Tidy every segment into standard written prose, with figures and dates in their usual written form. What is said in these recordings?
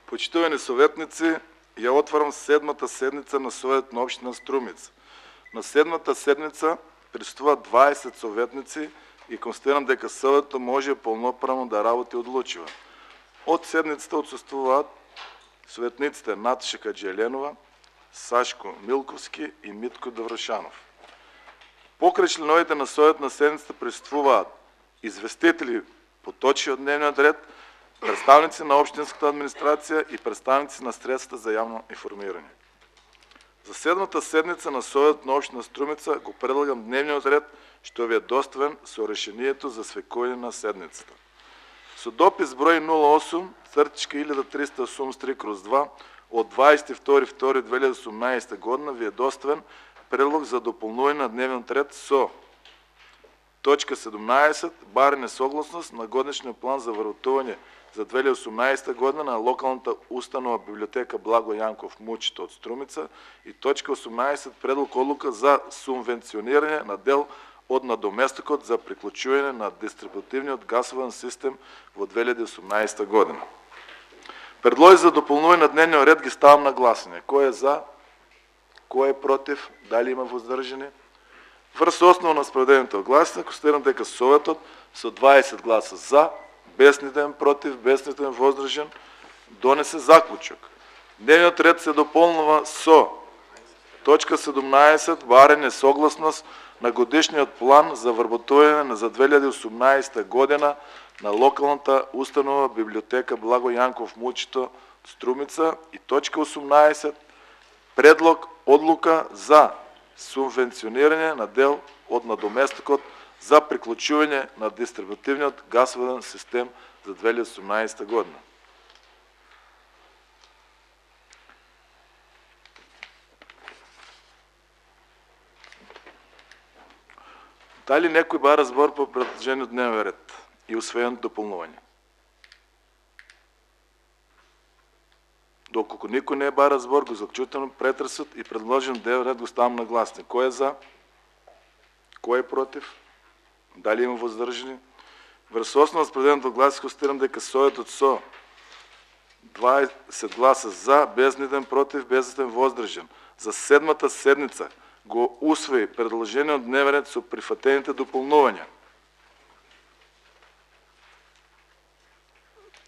Почитувани советници, ја отварам седмата седница на Советот на општина Струмица. На седмата седница присуствуваат 20 советници и констатирам дека Советот може полноправно да работи одлучива. Од седницата отсуствуваат советниците Наташа Каджеленова, Сашко Милковски и Митко Доврошанов. Покрај членовите на Советот на седницата присуствуваат известители по точки од дневниот ред, представници на општинската администрација и представници на средствата за јавно информирање. За седмата седница на Советот на општина Струмица го предлагам дневниот ред што ви е доставен со решението за свекување на седницата. Со допис број 08/1383/2 од 22.2.2018 година ви е доставен предлог за дополнување на дневниот ред со точка 17 барање согласност на годишниот план за вработување за 2018 година на локалната установа библиотека Благо Јанков Мучето од Струмица и точка 18 предлог одлука за субвенционирање на дел од надоместокот за приклучување на дистрибутивниот гасовен систем во 2018 година. Предлози за дополнување на дневниот ред ги ставам на гласање. Кој е за? Кој е против? Дали има воздржани? Врз основа на спроведените гласања констатирам дека Советот со 20 гласа за, без нитен против, без нитен воздржан, донесе заклучок. Дневниот ред се дополнува со точка 17 барање согласност на годишниот план за вработување за 2018 година на локалната установа библиотека Благо Јанков Мучето Струмица и точка 18 предлог одлука за субвенционирање на дел од надоместокот за приклучување на дистрибутивниот гасовен систем за 2018 година. Дали некој бара збор по предложениот дневен ред и усвоено дополнување? Доколку никој не бара збор, го заклучувам претресот и предложен дневен ред го ставам на гласање. Кој е за? Кој е против? Дали има воздржани? Врз основа на спроведеното гласање констатирам дека Советот со 20 гласа за, без нитен против, без нитен воздржан за седмата седница го усвои предложениот дневен ред со прифатените дополнувања.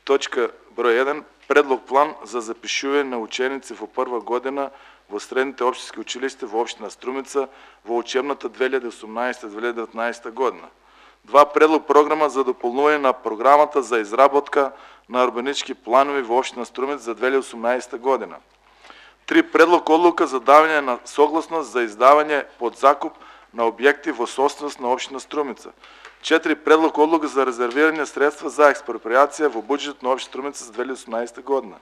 Точка број 1. Предлог план за запишување на ученици во прва година во средните општински училишта во општина Струмица во учебната 2018-2019 година. 2. Предлог програма за дополнување на програмата за изработка на урбанички планови во општина Струмица за 2018 година. 3. Предлог одлука за давање на согласност за издавање под закуп на објекти во собственост на општина Струмица. 4. Предлог одлука за резервирање средства за експроприација во буџетот на општина Струмица за 2018 година.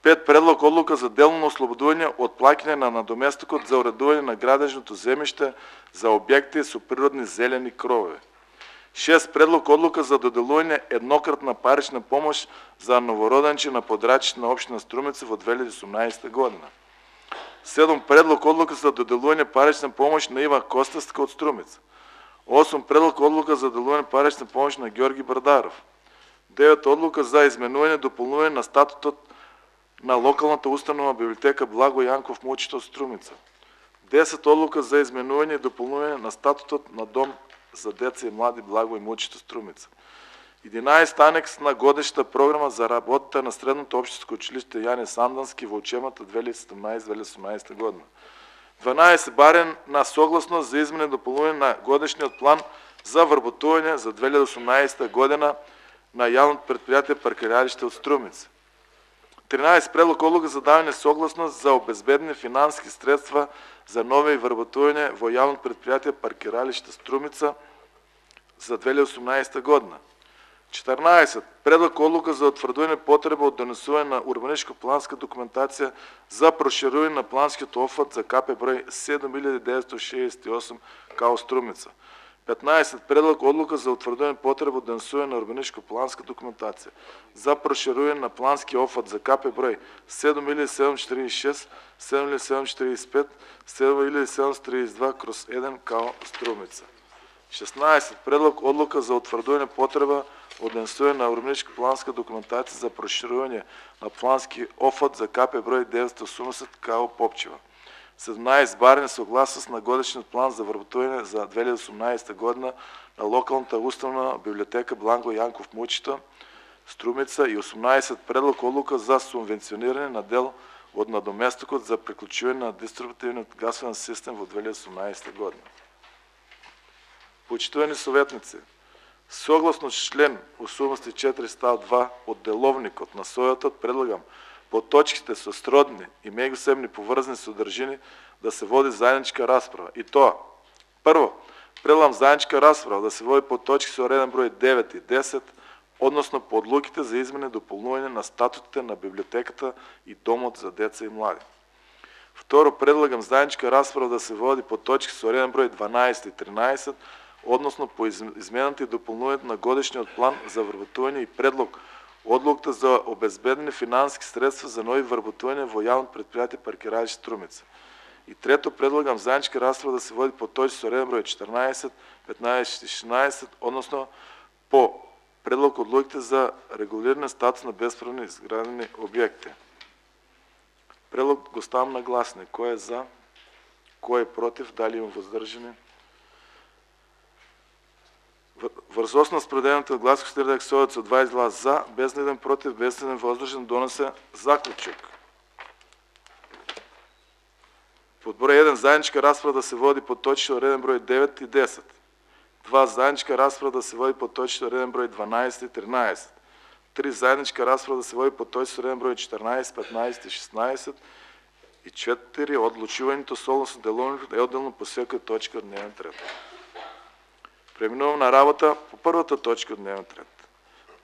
5. Предлог одлука за делно ослободување од плаќање на надоместокот за уредување на градежното земјиште за објекти со природни зелени кровови. 6. Предлог одлука за доделување еднократна парична помош за новороденче на подрачите на општина Струмица во 2018 година. 7. Предлог одлука за доделување парична помош на Ива Костевска од Струмица. 8. Предлог одлука за доделување парична помош на Ѓорги Бардаров. 9. Одлука за изменување и дополнување на статутот на локалната установа библиотека Благо Јанков Мучето Струмица. 10. Одлука за изменување и дополнување на статутот на Дом за деца и млади Благо и Мучето Струмица. 11. Анекс на годишната програма за работата на средното општинско училиште Јане Сандански во учебната 2017-2018 година. 12. Барање на согласност за измена и дополнување на годишниот план за вработување за 2018 година на јавното предпријатие Паркирајалиште од Струмица. 13. Предлог одлука за давање согласност за обезбедени финански средства за нови вработување во јавното предпријатие Паркирајалиште Струмица за 2018 година. 14. Предлог одлука за утврдување потреба од донесување на урбаничко-планска документација за проширување на планскиот офат за КП број 7968 КАО Струмица. 15. Предлог одлука за утврдување потреба од донесување на урбаничко-планска документација за проширување на плански офат за КП број 7746, 7745, 7732/1 КАО Струмица. 16. Предлог одлука за утврдување потреба од донесување на урбанистичка планска документација за проширување на плански офат за КП број 980 КАО Попчева. 17. Барање согласност на годишниот план за вработување за 2018 година на локалната установа библиотека Бланко Јанков Мучита, Струмица, и 18. Предлог одлука за субвенционирање на дел од надоместокот за приклучување на дистрибутивниот гасовен систем во 2018 година. Почитувани советници, согласно член 84 став 2 од деловникот на Советот, предлагам по точките со сродни и меѓусебни поврзани содржини да се води заедничка расправа. И тоа: прво, предлагам заедничка расправа да се води по точки со реден број 9 и 10, односно по одлуките за измени и дополнување на статутите на библиотеката и домот за деца и млади. Второ, предлагам заедничка расправа да се води по точки со реден број 12 и 13, односно по измената и дополнувањето на годишниот план за вработување и предлог одлуката за обезбедени финансиски средства за нови вработувања во јавното предпријатие Паркирајши Струмица. И трето, предлагам заедничка расправа да се води по точки со реден број 14, 15 и 16, односно по предлог одлуките за регулиране статус на бесправни изградени објекти. Предлог го ставам на гласне. Кој е за? Кој е против? Дали има воздржани? Врз основа спределеното од гласот се редак со 20 глас за, без еден против, без еден воздржан, донесе заклучок. Под број 1 заедничка расправа да се води по точки од реден број 9 и 10. 2. Заедничка расправа да се води по точки од реден број 12 и 13. 3. Заедничка расправа да се води по точки од реден број 14, 15 и 16. И 4. Одлучувањето согласно деловникот е одделно по секоја точка од дневниот ред. Преминувам на работа по првата точка од дневниот ред.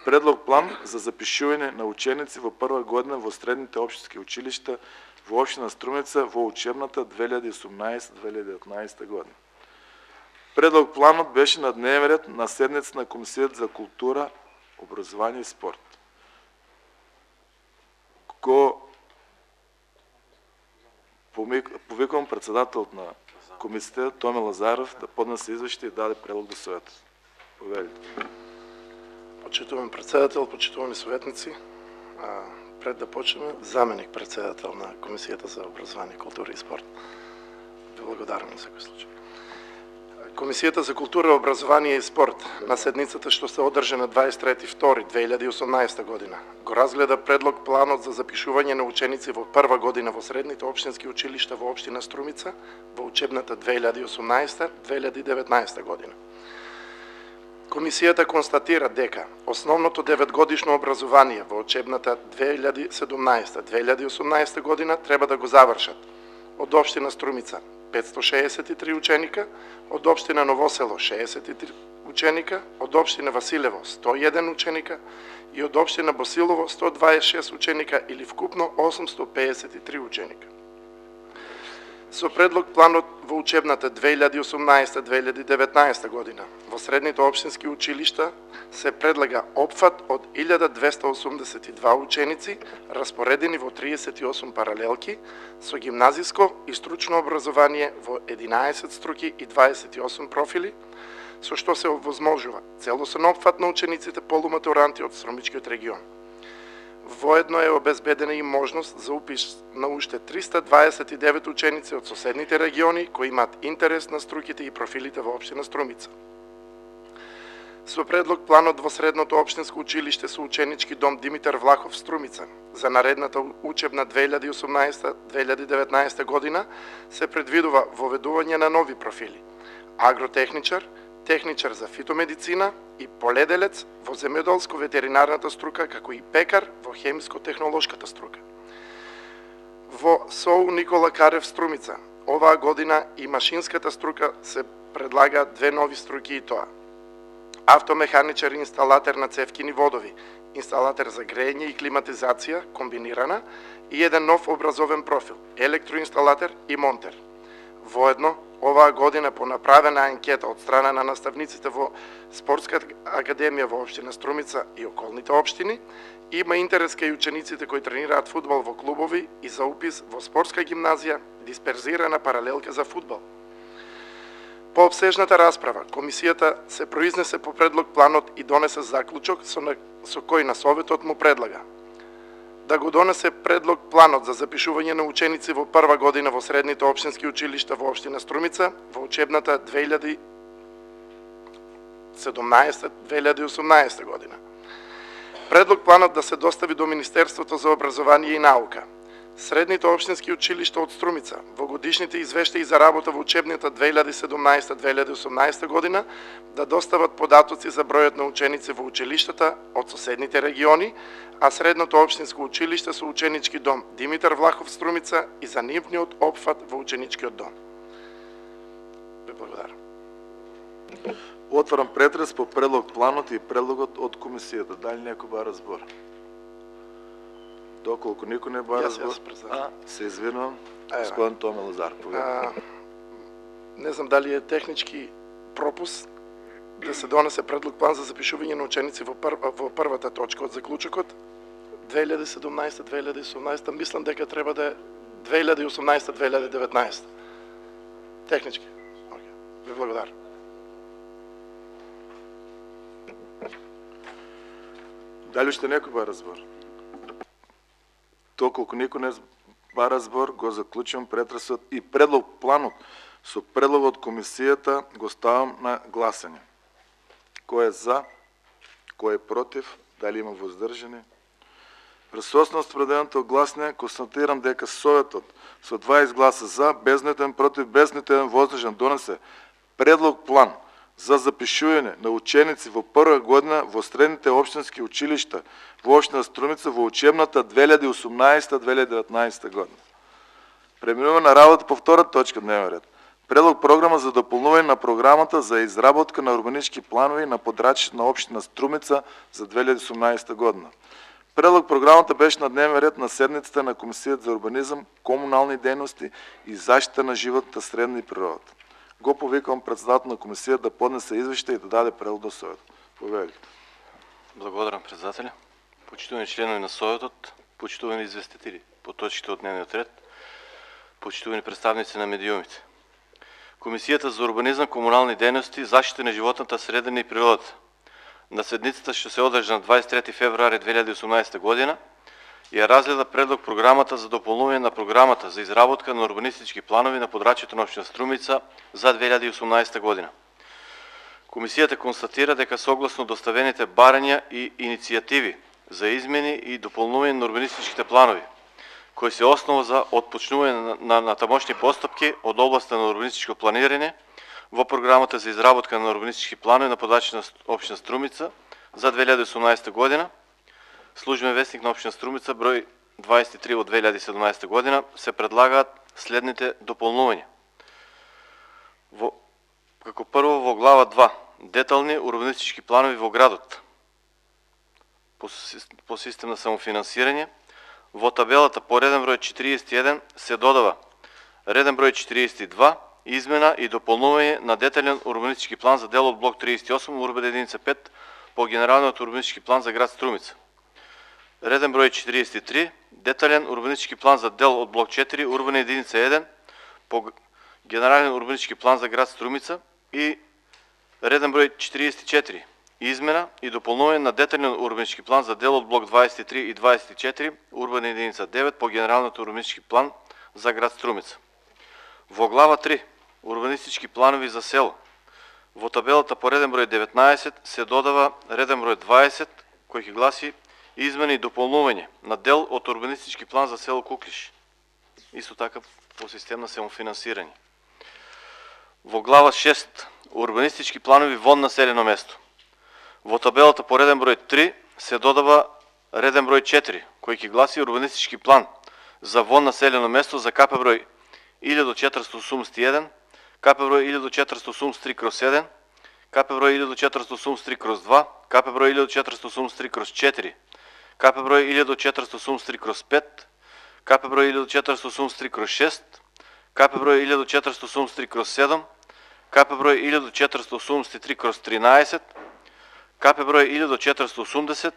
Предлог план за запишување на ученици во прва година во средните општински училишта во општина Струмица во учебната 2018-2019 година. Предлог планот беше на дневен ред на седница на Комисијата за култура, образование и спорт. Повикувам председателот на комисијата Томе Лазаров да поднесе извештај и даде предлог до Советот. Повелите. Почитуван председател, почитувани советници, пред да почнеме, заменик председател на Комисијата за образование, култура и спорт. Ви благодарам на секој случај. Комисијата за култура, образование и спорт на седницата што се одржа на 23.2.2018 година го разгледа предлог планот за запишување на ученици во прва година во средните општински училишта во општина Струмица во учебната 2018-2019 година. Комисијата констатира дека основното 9-годишно образование во учебната 2017-2018 година треба да го завршат од општина Струмица 563 ученика, од општина Новосело 63 ученика, од општина Василево 101 ученика и од општина Босилово 126 ученика или вкупно 853 ученика. Со предлог планот во учебната 2018-2019 година во средните општински училишта се предлага опфат од 1282 ученици распоредени во 38 паралелки со гимназиско и стручно образование во 11 струки и 28 профили, со што се овозможува целосен опфат на учениците полуматуранти од Струмичкиот регион. Воедно е обезбедена и можност за упис на уште 329 ученици од соседните региони кои имаат интерес на струките и профилите во општина Струмица. Со предлог планот во средното општинско училиште со ученички дом Димитар Влахов Струмица за наредната учебна 2018-2019 година се предвидува воведување на нови профили: агротехничар, техничар за фитомедицина и поледелец во земјоделско-ветеринарната струка, како и пекар во хемиско-технолошката струка. Во СОУ Никола Карев Струмица оваа година и машинската струка се предлагаат две нови струки, и тоа: автомеханичар и инсталатер на цевкини водови, инсталатер за грејење и климатизација комбинирана, и еден нов образовен профил: електроинсталатер и монтер. Воедно, оваа година по направена анкета од страна на наставниците во Спортската академија во општина Струмица и околните општини, има интерес кај учениците кои тренираат фудбал во клубови и за упис во спортска гимназија дисперзирана паралелка за фудбал. По обсежната расправа, комисијата се произнесе по предлог планот и донесе заклучок со кој на Советот му предлага да го донесе предлог планот за запишување на ученици во прва година во средните општински училишта во општина Струмица во учебната 2017-2018 година. Предлог планот да се достави до Министерството за образование и наука. Средните општински училишта од Струмица во годишните извештаи за работа во учебната 2017-2018 година да достават податоци за бројот на ученици во училиштата од соседните региони, а средното општинско училиште со ученички дом Димитар Влахов Струмица и за нивниот опфат во ученичкиот дом. Ви благодарам. Отварам претрес по предлог планот и предлогот од комисијата. Дали некој бара збор? Доколку никој не бара збор, се извинувам. Господин Томе Лазар, не знам дали е технички пропуск да се донесе предлог план за запишување на ученици во првата точка од заклучокот 2017-2018, мислам дека треба да е 2018-2019. Технички. Ви благодарам. Дали уште некој бара збор? Доколку никој не бара збор, го заклучувам претресот и предлог планот со предлогот од комисијата го ставам на гласање. Кој е за? Кој е против? Дали има воздржани? Присуствено на спроведеното гласање, констатирам дека Советот со 20 гласа за, без ниту еден против, без ниту еден воздржан донесе предлог план за запишување на ученици во прва година во средните општински училишта во општина Струмица во учебната 2018-2019 година. Преминуваме на работа по втора точка дневен ред. Предлог програма за дополнување на програмата за изработка на урбанички планови на подрачјето на општина Струмица за 2018 година. Предлог програмата беше на дневен ред на седницата на Комисијата за урбанизам, комунални дејности и заштита на животната средна и природата. Го повикам председател на комисијата да поднесе извештај и да даде предлог до Советот. Повелите. Благодарам, председателя. Почитувани членови на Советот, почитувани известители по точките од дневниот ред, почитувани представници на медиумите. Комисијата за урбанизам, комунални дејности, заштита на животната средина и природата на седницата што се одржа на 23 февруари 2018 година ја разгледа предлог програмата за дополнување на програмата за изработка на урбанистички планови на подрачјето на општина Струмица за 2018 година. Комисијата констатира дека согласно доставените барања и иницијативи за измени и дополнување на урбанистичките планови, кои се основа за отпочнување на тамошни постапки од областа на урбанистичко планирање во програмата за изработка на урбанистички планови на подрачјето на општина Струмица за 2018 година, Службен вестник на општина Струмица број 23 од 2017 година, се предлагаат следните дополнувања. Како прво во глава 2, детални урбанистички планови во градот по систем на самофинансирање, во табелата по реден број 41 се додава реден број 42, измена и дополнување на детален урбанистички план за дел од блок 38, урбана единица 5 по генералниот урбанистички план за град Струмица. Реден број 43, детален урбанистички план за дел од блок 4, урбана единица 1 по генерален урбанистички план за град Струмица и реден број 44, измена и дополнување на детален урбанистички план за дел од блок 23 и 24, урбана единица 9 по генералниот урбанистички план за град Струмица. Во глава 3, урбанистички планови за село, во табелата по реден број 19 се додава реден број 20, кој ќе гласи измени и дополнување на дел од урбанистички план за село Куклиш. Исто така по систем на самофинансирање. Во глава 6, урбанистички планови вон населено место. Во табелата по реден број 3 се додава реден број 4, кој ќе гласи урбанистички план за вон населено место за КП број 1481, КП број 1483/1, КП број 1483/2, КП број 1483/4, КП број 1483/5, КП број 1483/6, КП број 1483/7, КП број 1483/13, КП број 1480,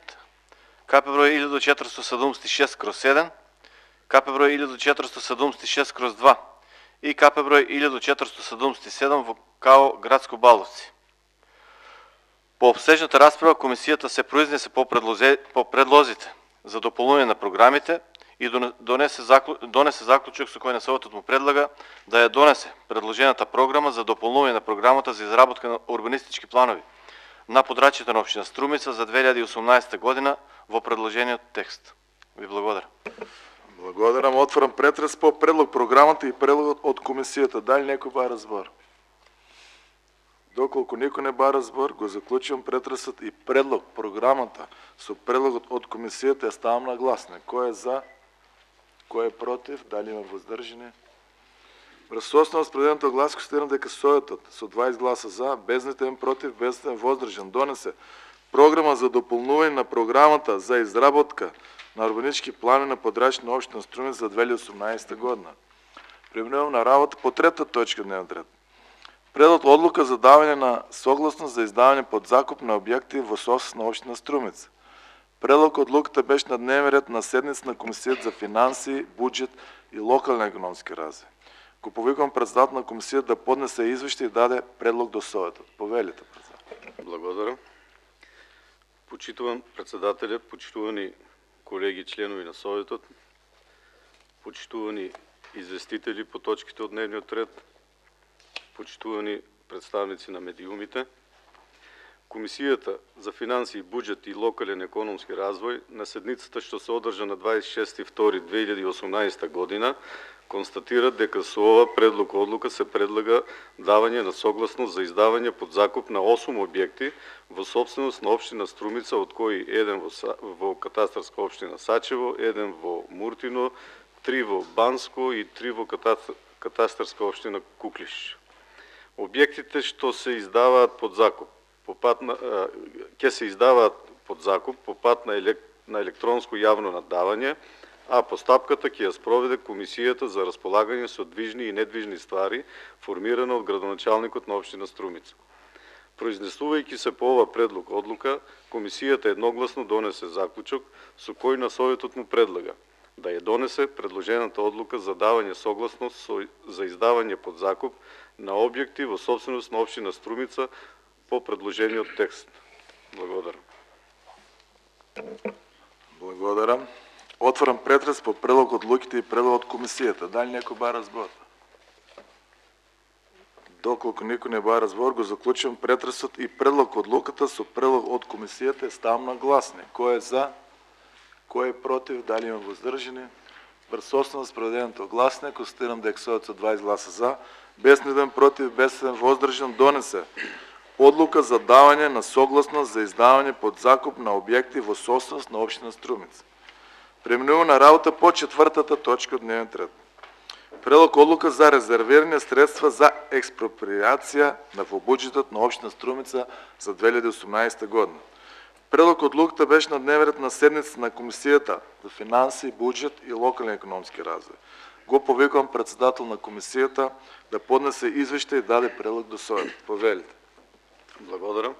КП број 1476/7, КП број 1476/2 и КП број 1477 во КАО Градско Балдовци. По обсежната расправа, комисијата се произнесе по предлозите за дополнување на програмите и донесе заклучок со кој на Советот му предлага да ја донесе предложената програма за дополнување на програмата за изработка на урбанистички планови на подрачјето на општина Струмица за 2018 година во предложениот текст. Ви благодарам. Благодарам. Отварам претрес по предлог програмата и предлогот од комисијата. Дали некој бара збор? Доколку никој не бара збор, го заклучувам претресот и предлог програмата со предлогот од комисијата ја ставам на гласне. Кој е за? Кој е против? Дали има воздржани? Врз основа спределеното глас констатирам дека Советот со 20 гласа за, без нитен против, без нитен воздржан донесе програма за дополнување на програмата за изработка на урбанистички планови на подрачјето на општина Струмица за 2018 година. Преминувам на работа по трета точка дневен ред. Предлог одлука за давање на согласност за издавање под закуп на објекти во собственост на општина Струмица. Предлог одлуката беше на дневен ред на седница на Комисијата за финансии, буџет и локален економски развој. Го повикувам председател на комисијата да поднесе извештај и даде предлог до Советот. Повелите, председател. Благодарам. Почитуван председателе, почитувани колеги членови на Советот, почитувани известители по точките од дневниот ред, почитувани представници на медиумите, Комисијата за финансии, буџет и локален економски развој на седницата што се одржа на 26.2.2018 година констатира дека со ова предлог одлука се предлага давање на согласност за издавање под закуп на 8 објекти во собственост на општина Струмица, од кои еден во катастарска општина Сачево, еден во Муртино, 3 во Банско и 3 во катастарска општина Куклиш. Објектите што се издаваат под закуп ќе се издаваат под закуп по пат на електронско јавно наддавање, а постапката ќе ја спроведе Комисијата за располагање со движни и недвижни ствари, формирана од градоначалникот на општина Струмица. Произнесувајќи се по ова предлог одлука, Комисијата едногласно донесе заклучок со кој на Советот му предлага да ја донесе предложената одлука за давање согласност за издавање под закуп на објекти во собственост на општина Струмица по предложениот текст. Благодарам. Благодарам. Отварам претрес по предлог одлуките и предлог од комисијата. Дали некој бара збор? Доколку никој не бара збор, го заклучувам претресот и предлог одлуката со предлог од комисијата ставам на гласне. Кој е за? Кој е против? Дали има воздржани? Врз основа спроведеното гласне констатирам дека Советот со 20 гласа за, без нитен против, без нитен воздржан донесе одлука за давање на согласност за издавање под закуп на објекти во собственост на општина Струмица. Преминуваме на работа по четвртата точка од дневниот ред. Предлог одлука за резервирање средства за експроприација во буџетот на општина Струмица за 2018 година. Предлог одлуката беше на дневен ред на седница на Комисијата за финансии, буџет и локален економски развој. Го повикувам председател на комисијата да поднесе извештај и даде предлог до Советот. Повелите. Благодарам.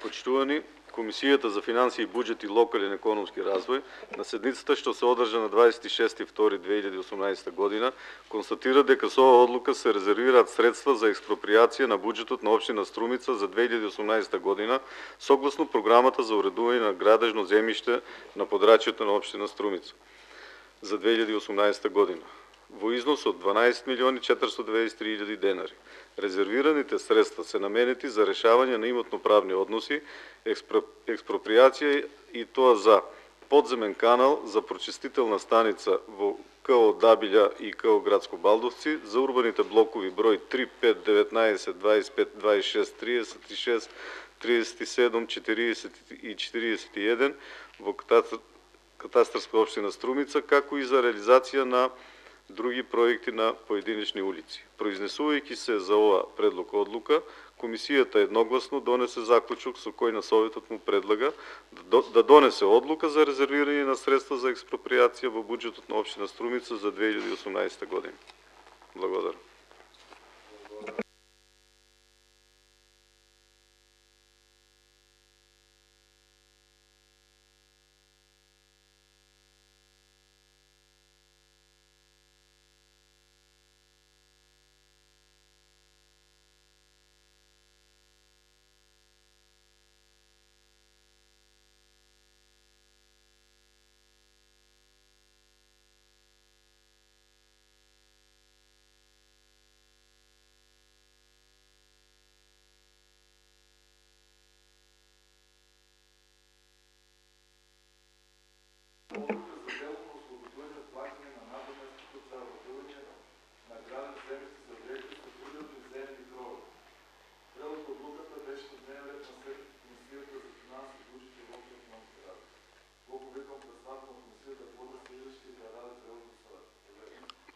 Почитувани, Комисијата за финансии, буџет и локален економски развој на седницата што се одржа на 26.2.2018 година констатира дека со оваа одлука се резервираат средства за експроприација на буџетот на општина Струмица за 2018 година согласно програмата за уредување на градежно земјиште на подрачјето на општина Струмица за 2018 година во износ од 12.493.000 денари. Резервираните средства се наменети за решавање на имотно-правни односи, експроприација и тоа за подземен канал за прочистителна станица во КО Дабилја и КО Градско Балдовци за урбаните блокови број 3, 5, 19, 25, 26, 36, 37, 40 и 41 во катастарска општина Струмица, како и за реализација на други проекти на поединечни улици. Произнесувајќи се за ова предлог одлука, комисијата едногласно донесе заклучок со кој на Советот му предлага да донесе одлука за резервирање на средства за експроприација во буџетот на општина Струмица за 2018 година. Благодарам.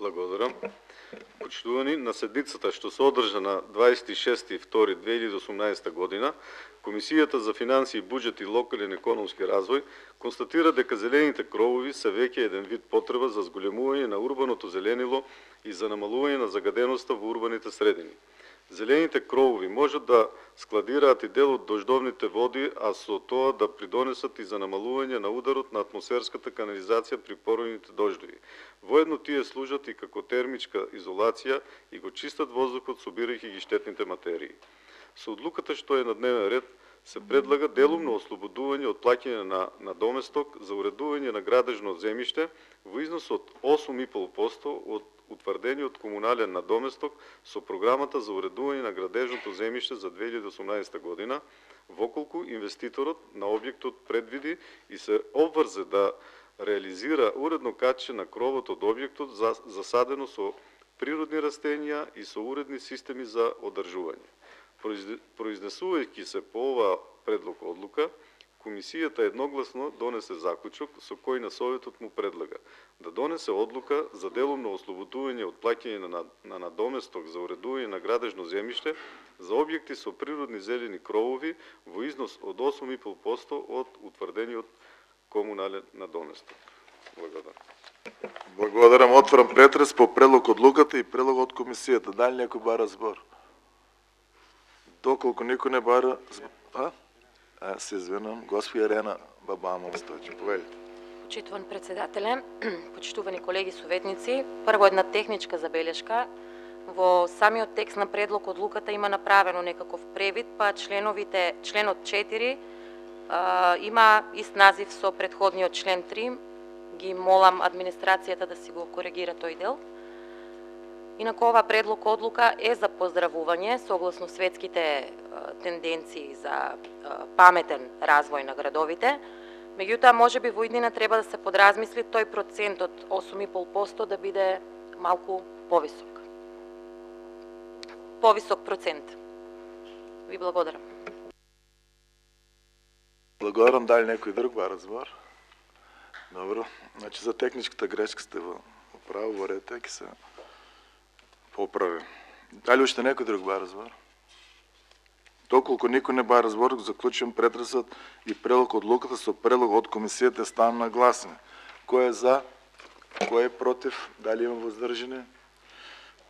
Благодарам. Почитувани, на седницата што се одржа на 26.2.2018 година, Комисијата за финансии, буџет и локален економски развој констатира дека зелените кровови се веќе еден вид потреба за зголемување на урбаното зеленило и за намалување на загаденоста во урбаните средини. Зелените кровови можат да складираат и дел од дождовните води, а со тоа да придонесат и за намалување на ударот на атмосферската канализација при породните дождови. Воедно тие служат и како термичка изолација и го чистат воздухот, собирајќи ги штетните материи. Со одлуката што е на дневен ред се предлага делумно ослободување од плаќање на доместок за уредување на градежно земјиште во износ од 8,5% од утврдениот комунален надоместок со програмата за уредување на градежното земјиште за 2018 година, воколку инвеститорот на објектот предвиди и се обврзе да реализира уредно качење на кровот од објектот засадено со природни растенија и со уредни системи за одржување. Произнесувајќи се по ова предлог одлука, Комисијата едногласно донесе заклучок со кој на Советот му предлага да донесе одлука за делумно ослободување од плаќање на надоместок за уредување на градежно земјиште за објекти со природни зелени кровови во износ од 8,5% од утврдениот комунален надоместок. Благодарам. Благодарам. Отварам претрес по предлог одлуката и предлог од комисијата. Дали некој бара збор? Доколку никој не бара збор... се извинам, госпоѓа Ирена Бабамова Стојчев. Повелите. Почитуван председателе, почитувани колеги советници, прво една техничка забелешка. Во самиот текст на предлог одлуката има направено некаков превид, па членот 4 има ист назив со претходниот член 3. Ги молам администрацијата да си го коригира тој дел. Инаку ова предлог одлука е за поздравување согласно светските тенденции за паметен развој на градовите. Меѓутоа, можеби во иднина треба да се подразмисли тој процент од 8,5% да биде малку повисок. Повисок процент. Ви благодарам. Благодарам. Дали некој друг бара збор? Добро. Значи за техничката грешка сте во право, во ред, ќе се поправи. Дали уште некој друг бара збор? Доколку никој не бара збор, заклучувам претресот и предлог одлуката со предлог од комисијата ставам на гласење. Кој е за? Кој е против? Дали има воздржани?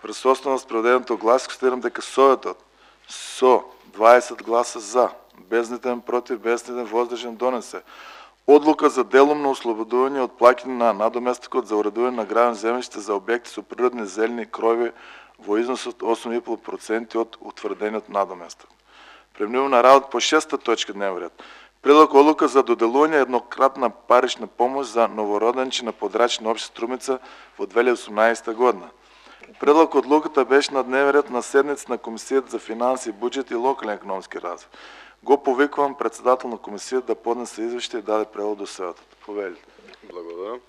Присуствено на спроведеното глас, констатирам дека Советот со 20 гласа за, без нитен против, без нитен воздржан донесе одлука за делумно ослободување од плаќање на надоместокот за уредување на градено земјиште за објекти со природни зелени крови во износ од 8,5% од утврдениот надоместок. Преминувам на работа по 6-та точка дневен ред. Предлог одлука за доделување еднократна парична помош за новороденче на подрачна општа Струмица во 2018 година. Предлог одлуката беше на дневен ред на седница на Комисијата за финансии, буџет и локален економски развој. Го повикувам председател на комисијата да поднесе извештај и даде превод до Советот. Повелите. Благодарам.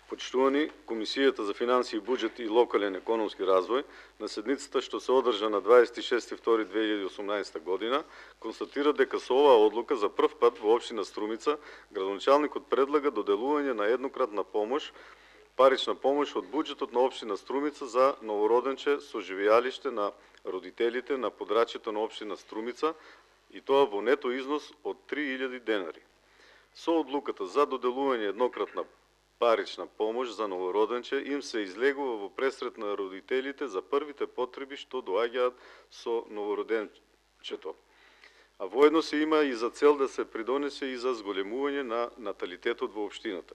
Почитувани, Комисијата за финансии, буџет и локален економски развој на седницата што се одржа на 26.2.2018 година констатира дека со оваа одлука за прв пат во општина Струмица градоначалникот предлага доделување на еднократна помош, парична помош од буџетот на општина Струмица за новороденче со живеалиште на родителите на подрачјето на општина Струмица и тоа во нето износ од 3000 денари. Со одлуката за доделување еднократна парична помош за новороденче им се излегува во пресрет на родителите за првите потреби што доаѓаат со новороденчето. А воедно се има и за цел да се придонесе и за зголемување на наталитетот во општината.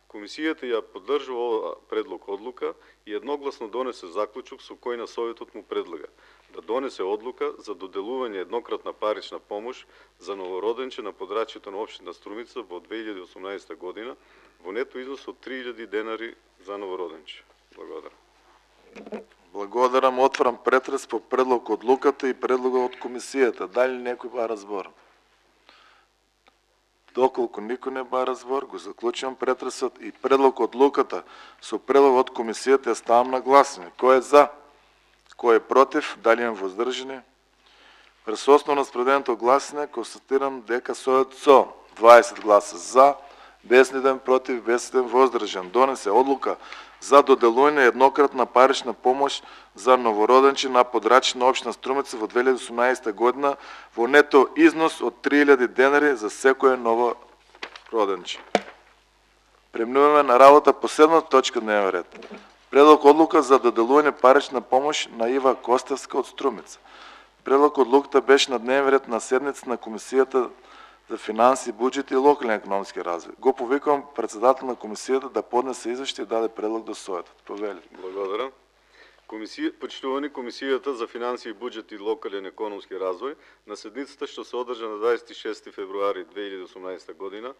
Комисијата ја поддржува оваа предлог одлука и едногласно донесе заклучок со кој на Советот му предлага да донесе одлука за доделување еднократна парична помош за новороденче на подрачјето на општина Струмица во 2018 година во нето износ од 3000 денари за новороденче. Благодарам. Благодарам. Отварам претрес по предлог одлуката и предлога од комисијата. Дали некој бара збор? Доколку никој не бара збор, го заклучувам претресот и предлог одлуката со предлог од комисијата ја ставам на гласање. Кој е за? Кој е против? Дали има воздржани? Врз основа на спроведеното гласање констатирам дека со 20 гласа за, без ниден против, без ниден воздржан, донесе одлука за доделување еднократна парична помош за новороденче на подрачје на општина Струмица во 2018 година во нето износ од 3000 денари за секое ново роденче. Преминуваме на работа по седмата точка дневен ред. Предлог одлука за доделување парична помош на Ива Костевска од Струмица. Предлог одлуката беше на дневен ред на седница на Комисијата за финанси, буџет и локален економски развој. Го повикувам председател на комисијата да поднесе извештај и даде предлог до советот. Повелите. Благодарам. Почитувани Комисијата за финанси, буџет и локален економски развој на седницата што се одржа на 26 февруари 2018 година,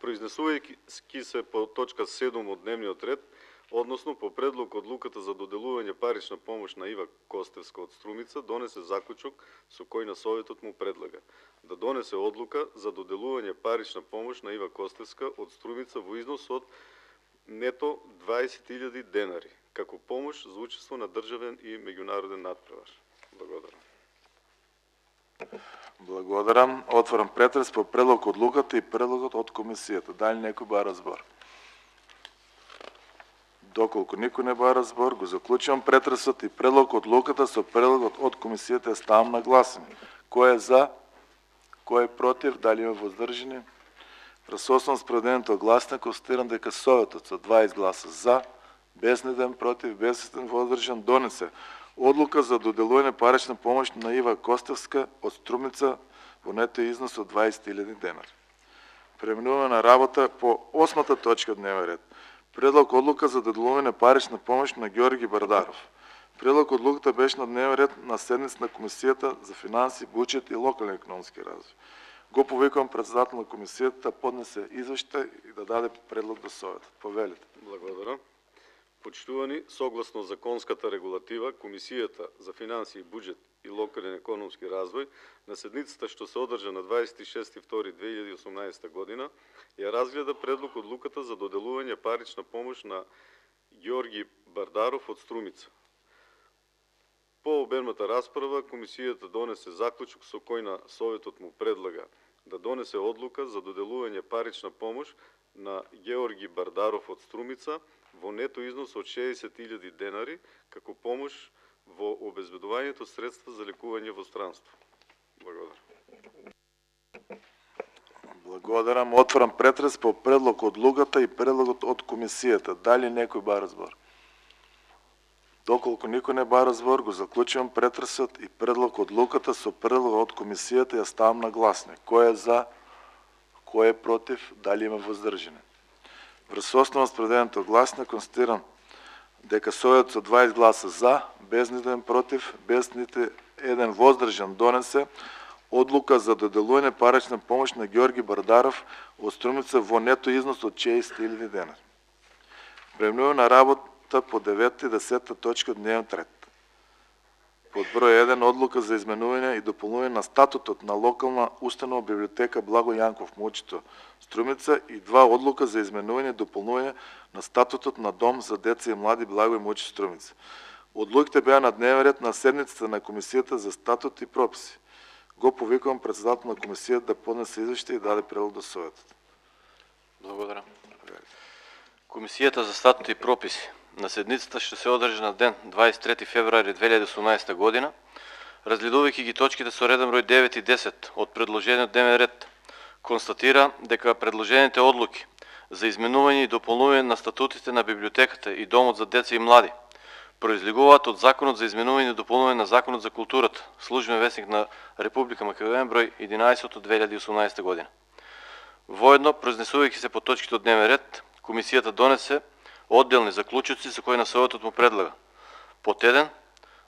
произнесувајќи се по точка 7 од дневниот ред, односно по предлог одлуката за доделување парична помош на Ива Костевска од Струмица, донесе заклучок со кој на советот му предлага да донесе одлука за доделување парична помош на Ива Костевска од Струмица во износ од нето 20.000 денари, како помош за учество на државен и меѓународен надпревар. Благодарам. Благодарам. Отварам претрес по предлог одлуката и предлогот од комисијата. Дали некој бара збор? Доколку никој не бара збор, го заклучувам претресот и предлог одлуката со предлогот од комисијата ја ставам на гласање. Кој е за? Кој е против? Дали има воздржани? Врз основа спроведеното гласање констатирам дека советот со 20 гласа за, без ниден против, без ниден воздржан, донесе одлука за доделување парична помош на Ива Костевска од Струмица во нето износ од 20.000 денари. Преминуваме на работа по 8-та точка дневен ред. Предлог одлука за доделување парична помош на Георги Бардаров. Предлог одлуката беше на дневен ред на седница на Комисијата за финанси, буџет и локален економски развој. Го повикувам председател на комисијата да поднесе извештај и да даде предлог до советот. Повелите. Благодарам. Почитувани, согласно законската регулатива, Комисијата за финанси, буџет и локален економски развој на седницата што се одржа на 26.2.2018 година ја разгледа предлог одлуката за доделување парична помош на Георги Бардаров од Струмица. По обемната расправа, комисијата донесе заклучок со кој на советот му предлага да донесе одлука за доделување парична помош на Георги Бардаров од Струмица во нето износ од 60.000 денари како помош во обезбедувањето средства за лекување во странство. Благодарам. Благодарам. Отварам претрес по предлог одлуката и предлогот од комисијата. Дали некој бара збор? Доколку никој не бара збор, го заклучувам претресот и предлог одлуката со предлог од комисијата ја ставам на гласање. Кој е за? Кој е против? Дали има воздржани? Врз основа спроведеното гласање констатирам дека советот со 20 гласа за, без ниден против, без нити еден воздржан, донесе одлука за доделување парична помош на Георги Бардаров од Струмица во нето износ од 60.000 денари. Преминуваме на работа по 9 и 10 точка дневниот ред. Под број 1 одлука за изменување и дополнување на статутот на локална установа библиотека Благо Јанков Мучето Струмица и 2 одлука за изменување и дополнување на статутот на Дом за деца и млади Благо и Мучето Струмица. Одлуките беа на дневен ред на седницата на Комисијата за статут и прописи. Го повикувам председател на комисијата да поднесе извештај и даде предлог до советот. Благодарам. Комисијата за статут и прописи на седницата што се одржа на ден 23 февруари 2018 година, разгледувајќи ги точките со реден број 9 и 10 од предложениот дневен ред, констатира дека предложените одлуки за изменување и дополнување на статутите на библиотеката и Домот за деца и млади произлегуваат од Законот за изменување и дополнување на Законот за културата, Службен весник на Република Македонија број 11 од 2018 година. Воедно, произнесувајќи се по точките од дневен ред, комисијата донесе одделни заклучоци со кои на советот му предлага. Под 1,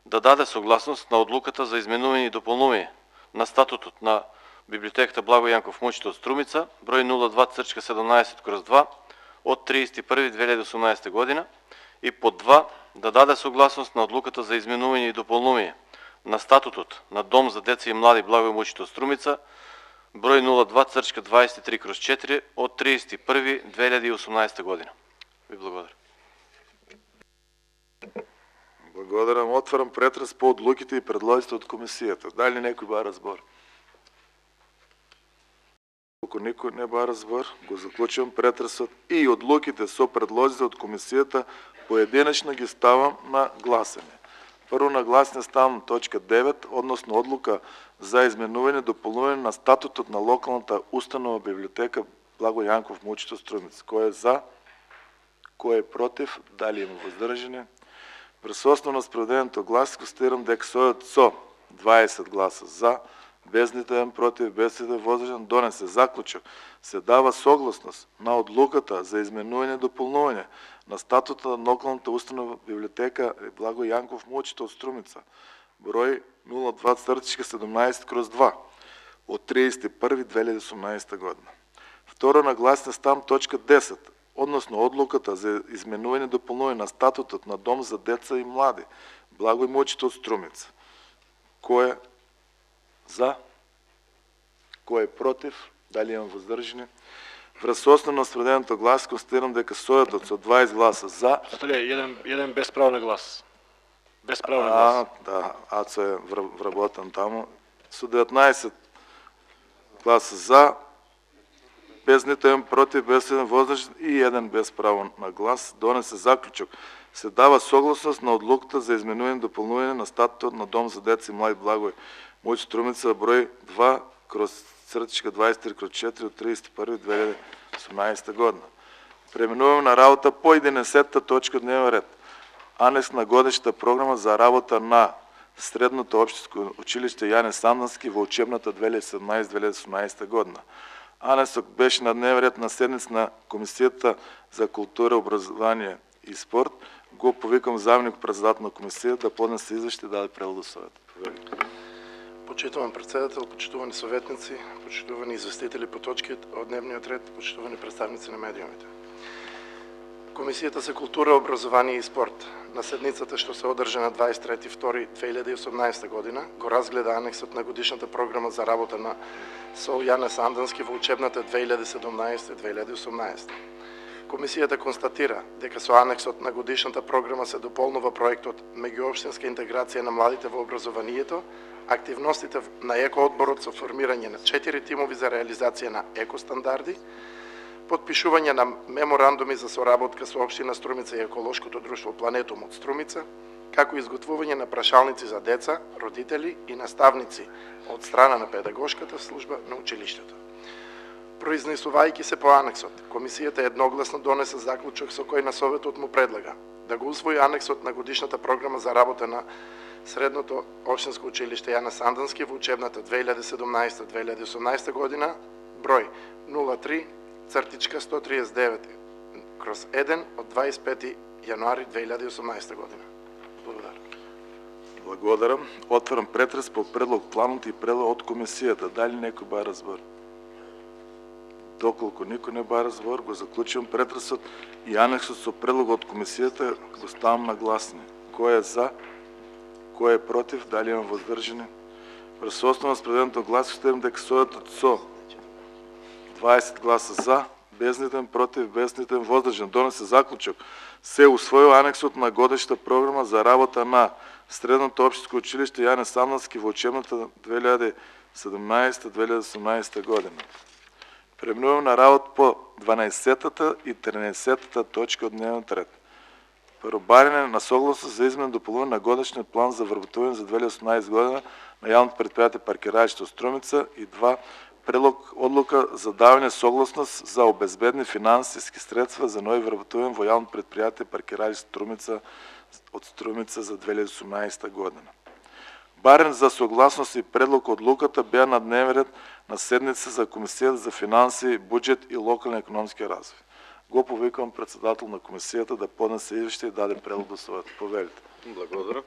да даде согласност на одлуката за изменување и дополнување на статутот на библиотеката Благо Јанков Мучето од Струмица, број 02/17/2 од 31.2018 година и под 2, да даде согласност на одлуката за изменување и дополнување на статутот на Дом за деца и млади Благо Мучето Струмица, број 02/23/4 од 31.2018 година. Ви благодарам. Благодарам. Отварам претрес по одлуките и предлозите од комисијата. Дали некој бара збор? Ако никој не бара збор, го заклучувам претресот и одлуките со предлозите од комисијата поединечно ги ставам на гласење. Прво на гласење ставам точка 9, односно одлука за изменување и дополнување на статутот на локалната установа библиотека Благо Јанков Мучето Струмица. Кој е за? Кој е против? Дали има воздржани? Врз основа на спроведеното глас констатирам дека со 20 гласа за, без ниту еден против, без ниту еден воздржан, донесе заклучок. Се дава согласност на одлуката за изменување и дополнување на статута на локалната установа библиотека Благо Јанков Мучето од Струмица, број 02/17/2 од 31.2018 година. Второ на гласење ставам точка 10, односно одлуката за изменување и дополнување на статутот на Дом за деца и млади Благој Мучето од Струмица. Кој е за? Кој е против? Дали имам воздржани? Врз основа на спроведеното глас констатирам дека сојотот со 20 гласа за... Еден без право на глас. Без право на глас. Да, Ацо е вработен таму. Со 19 гласа за, без ниту еден против, без еден воздржан и еден без право на глас, донесе заклучок. Се дава согласност на одлуката за изменување и дополнување на статутот на Дом за деца и млади Благој Мучето Струмица, број 2/23/4 од 31.2018 година. Преминуваме на работа по 11-та точка од дневен ред. Анекс на годишната програма за работа на Средното општинско училиште Јане Сандански во учебната 2017-2018 година. Анексот беше на дневен ред на седница на Комисијата за култура, образование и спорт. Го повикам заменик председател на комисија да поднесе извештај и даде превод до Советот. Почитуван председател, почитувани советници, почитувани известители по точки од дневниот ред, почитувани представници на медиумите. Комисијата за култура, образование и спорт на седницата што се одржа на 23.2.2018 година го разгледа анексот на годишната програма за работа на СОУ Јане Сандански во учебната 2017-2018. Комисијата констатира дека со анексот на годишната програма се дополнува проектот Меѓуопштинска интеграција на младите во образованието, активностите на екоодборот со формирање на 4 тимови за реализација на екостандарди, подпишување на меморандуми за соработка со општина Струмица и еколошкото друштво Планетум од Струмица, како изготвување на прашалници за деца, родители и наставници од страна на педагошката служба на училиштето. Произнесувајќи се по анексот, комисијата едногласно донесе заклучок со кој на Советот му предлага да го усвои анексот на годишната програма за работа на Средното општинско училиште Јане Сандански во учебната 2017-2018 година, број 03/139/1 од 25 јануари 2018 година. Благодарам. Благодарам. Отварам претрес по предлог планот и предлог од комисијата. Дали некој бара збор? Доколку никој не бара збор, го заклучувам претресот и анексот со предлог од комисијата го ставам на гласни. Кој е за? Кој е против? Дали има воздржани? Врз основа на спроведеното глас констатирам дека сојотот со 20 гласа за, без нитен против, без нитен воздржан, донесе заклучок. Се усвоил анексот на годишната програма за работа на Средното општинско училиште Јане Сандански во учебната 2017-2018 година. Преминувам на работа по 12-та и 13-та точка од дневниот ред. Прво, барење на согласност за измена и дополнување на годишниот план за вработување за 2018 година на јавното предпријатие Паркирајште Струмица и 2. Предлог одлука за давање согласност за обезбедни финансиски средства за нови вработување во јавното предпријатие Паркирајште Струмица од Струмица за 2018 година. Барен за согласност и предлог одлуката беа на дневен ред на седница за Комисијата за финансии, буџет и локален економски развој. Го повикувам председател на комисијата да поднесе извештај и даде предлог до Советот. Повелите. Благодарам.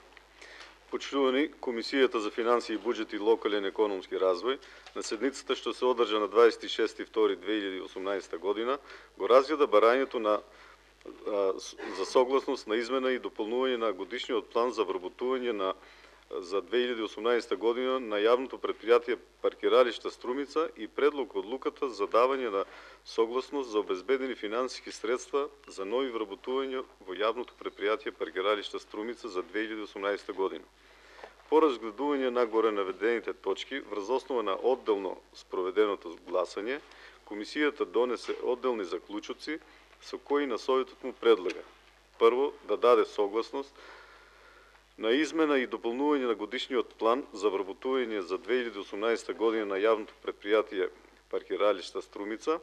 Почитувани, Комисијата за финансии, буџет и локален економски развој на седницата што се одржа на 26.2.2018 година го разгледа барањето за согласност на измена и дополнување на годишниот план за вработување на за 2018 година на јавното предпријатие Паркиралишта Струмица и предлог одлуката за давање на согласност за обезбедени финансиски средства за нови вработувања во јавното предпријатие Паркиралишта Струмица за 2018 година. По разгледување на горе наведените точки, врз основа на одделно спроведеното гласање, комисијата донесе одделни заклучоци со кои на советот му предлага: прво, да даде согласност на измена и дополнување на годишниот план за вработување за 2018 година на јавното предпријатие Паркиралишта Струмица,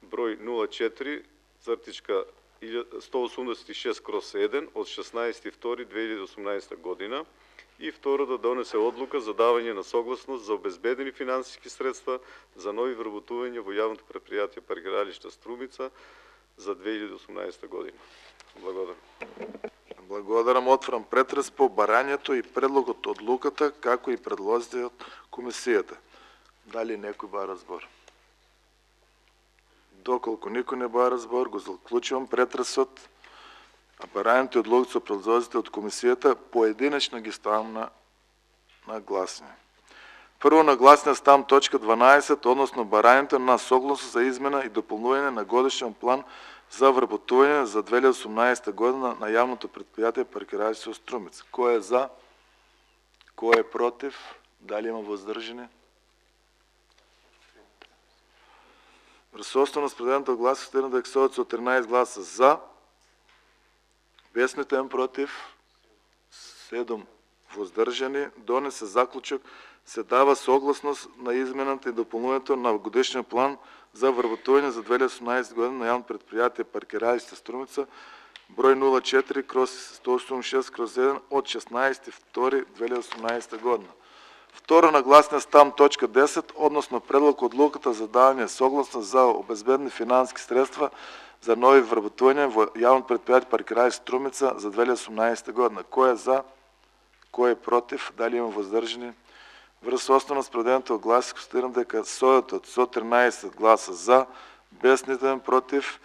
број 04.186/1 од 16.2.2018 година, и второ, да донесе одлука за давање на согласност за обезбедени финансиски средства за нови вработувања во јавното предпријатие Паркиралишта Струмица за 2018 година. Благодарам. Благодарам. Отварам претрес по барањето и предлогот одлуката, како и предлозите од комисијата. Дали некој бара збор? Доколку никој не бара збор, го заклучувам претресот, а барањето и одлуката со предлозите од комисијата поединечно ги ставам на гласање. Прво на гласање ставам точка 12, односно барањето на согласност за измена и дополнување на годишен план за вработување за 2018 година на јавното предпријатие Паркиралишта Струмица. Кој е за? Кој е против? Дали има воздржани? Врз основа на спределеното гласа стигна да ексоват со 13 гласа за, без ниту против, 7 воздржани, донесе заклучок, се дава согласност на измената и дополнувањето на годишниот план за вработување за 2018 година на јавно предпријатие Паркиралишта Струмица, број 04/186/1 од 16.2.2018 година. Второ на гласање ставам точка 10, односно предлог одлуката за давање согласност за обезбедени финансиски средства за нови вработувања во јавно предпријатие Паркиралишта Струмица за 2018 година. Кој е за? Кој е против? Дали има воздржани? Врз основа спределеното гласа констатирам дека советот со 13 гласа за, без ниту против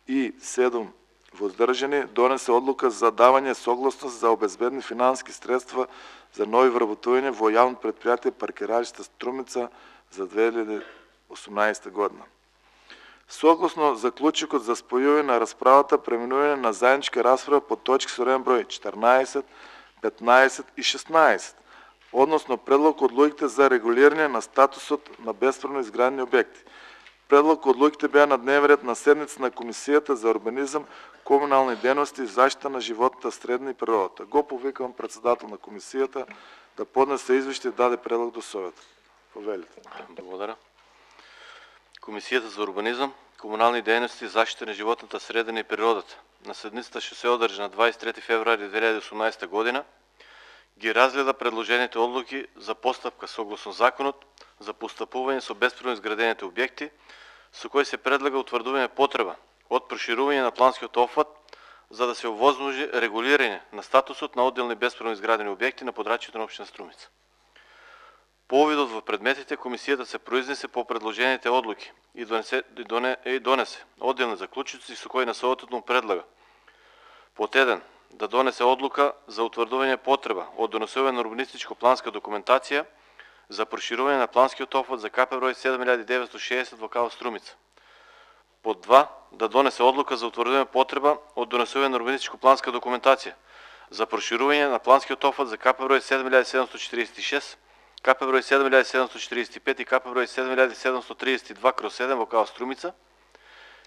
и 7 воздржани донесе одлука за давање согласност за обезбедени финансиски средства за нови вработувања во јавно предпријатие Паркиралишта Струмица за 2018 година. Согласно заклучокот за спојување на расправата, преминување на заедничка расправа по точки со реден број 14, 15 и 16, односно предлог одлуките за регулирање на статусот на бесправно изградени објекти. Предлог одлуките беа на дневен ред на седница на Комисијата за урбанизам, комунални дејности и заштита на животната средна и природата. Го повикам председател на комисијата да поднесе извештај и даде предлог до советот. Повелите. Благодарам. Комисијата за урбанизам, комунални дејности и заштита на животната средина и природата на седницата што се одржа на 23 февруари 2018 година ги разгледа предложените одлуки за постапка согласно законот за постапување со бесправно изградените објекти, со кој се предлага утврдување потреба од проширување на планскиот опфат за да се овозможи регулирање на статусот на одделни бесправно изградени објекти на подрачјето на општина Струмица. По увидот во предметите, комисијата се произнесе по предложените одлуки и донесе одделни заклучоци со кои на советот му предлага: под 1, да донесе одлука за утврдување потреба од донесување на урбанистичко-планска документација за проширување на планскиот опфат за КП број 7960 во КАО Струмица. Под 2, да донесе одлука за утврдување потреба од донесување на урбанистичко-планска документација за проширување на планскиот опфат за КП број 7746, КП број 7745 и КП број 7732/7 во КАО Струмица.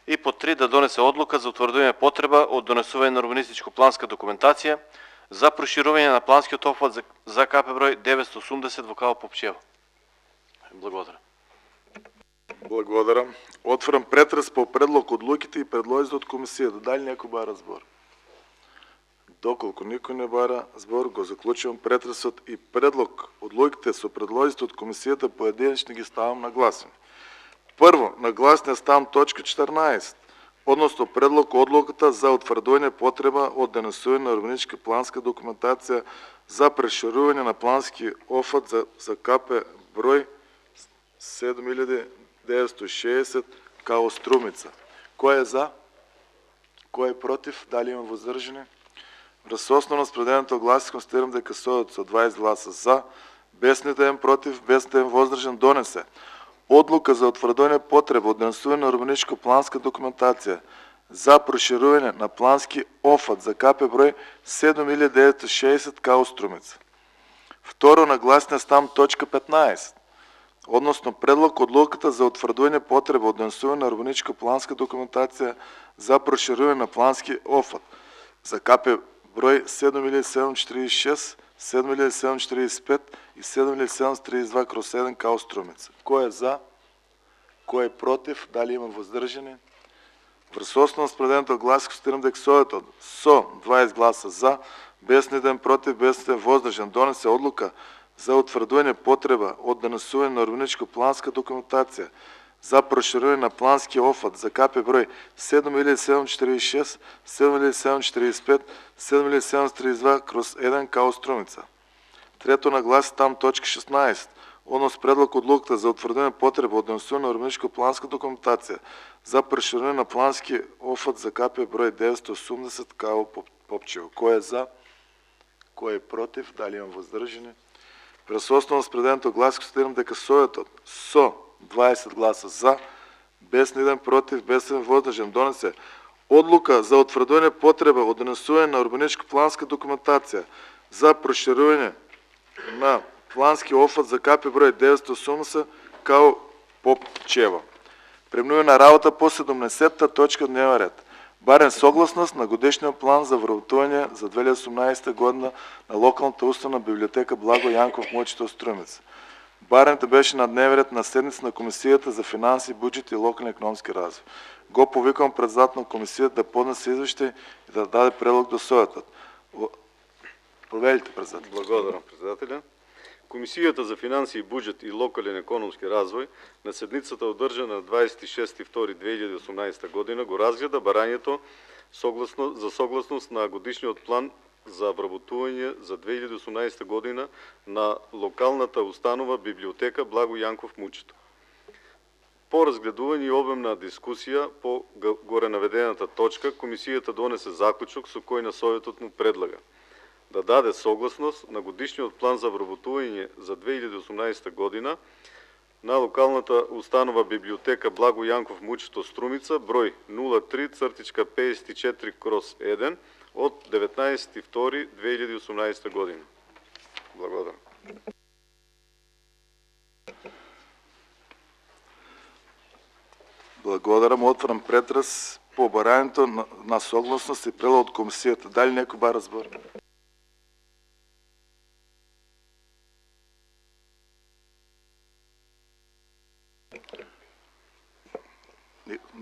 И под 3, да донесе одлука за утврдување потреба од донесување на урбанистичко-планска документација за проширување на планскиот опфат за КП број 980 во КАО Попчево. Благодарам. Благодарам. Отварам претрес по предлог одлуките и предлозите од комисијата. Дали некој бара збор? Доколку никој не бара збор, го заклучувам претресот и предлог одлуките со предлозите од комисијата поединечно ги ставам на гласање. Прво, на гласање ставам точка 14, односно предлог одлуката за утврдување потреба од донесување на урбанистичка планска документација за проширување на плански опфат за КП број 7960 КАО Струмица. Кој е за? Кој е против? Дали има воздржани? Врз основа на спределеното гласи констатирам дека сојот со 20 гласа за, без нито еден против, без нито еден воздржан донесе одлука за утврдување потреба од денесување на урбанистичко-планска документација за проширување на плански офат за КП број 7960 као Струмица. Второ, на гласния стам точка 15, односно предлог одлуката за утврдување потреба од денесување на урбанистичко-планска документација за проширување на плански офат за КП број 7746, 7745 и 7732/7 као Струмица. Кој е за? Кој е против? Дали има воздржани? Врз основа на спределеното гласи констатирам дека сојот со 20 гласа за, без нито еден против, без нито еден воздржан донесе одлука за утврдување потреба од денесување на урбанистичко-планска документација за проширување на плански офат за КП број 7746, 7745, 7732/1 као Струмица. Трето, на гласи там точка 16, однос предлог одлуката за утврдување потреба од денесување на урбанистичко-планска документација за проширување на плански офат за КП број 980 као Попчево. Кој е за? Кој е против? Дали има воздржани? Врз основа на спределеното гласи констатирам дека сојот со 20 гласа за, без ниден против, без ниден воздржан донесе одлука за утврдување потреба од денесување на урбанистичко-планска документација за проширување на плански офат за КП број 980 као Попчево. Преминуваме на работа по 17-та точка дневен ред. Барен согласност на годишниот план за вработување за 2018 година на локалната установа библиотека Благо Јанков Мучето Струмица. Баренето беше на дневен ред на седница на Комисијата за финанси, буџет и локален економски развој. Го повикам председател на комисијата да поднесе извештај и да даде предлог до сојотот. Проведите, председател. Благодарам, председателя. Комисијата за финанси, буџет и локален економски развој на седницата одржана на 26.2.2018 година го разгледа барањето за согласност на годишниот план за вработување за 2018 година на локалната установа библиотека Благо Јанков Мучето. По разгледување и обемна дискусија по горе наведената точка, комисијата донесе заклучок со кој на советот му предлага да даде согласност на годишниот план за вработување за 2018 година на локалната установа библиотека Благо Јанков Мучето Струмица број 03/54/1 од 19.2.2018 година. Благодарам. Благодарам. Отварам претрес по барањето на согласност и предлог од комисијата. Дали некој бара збор?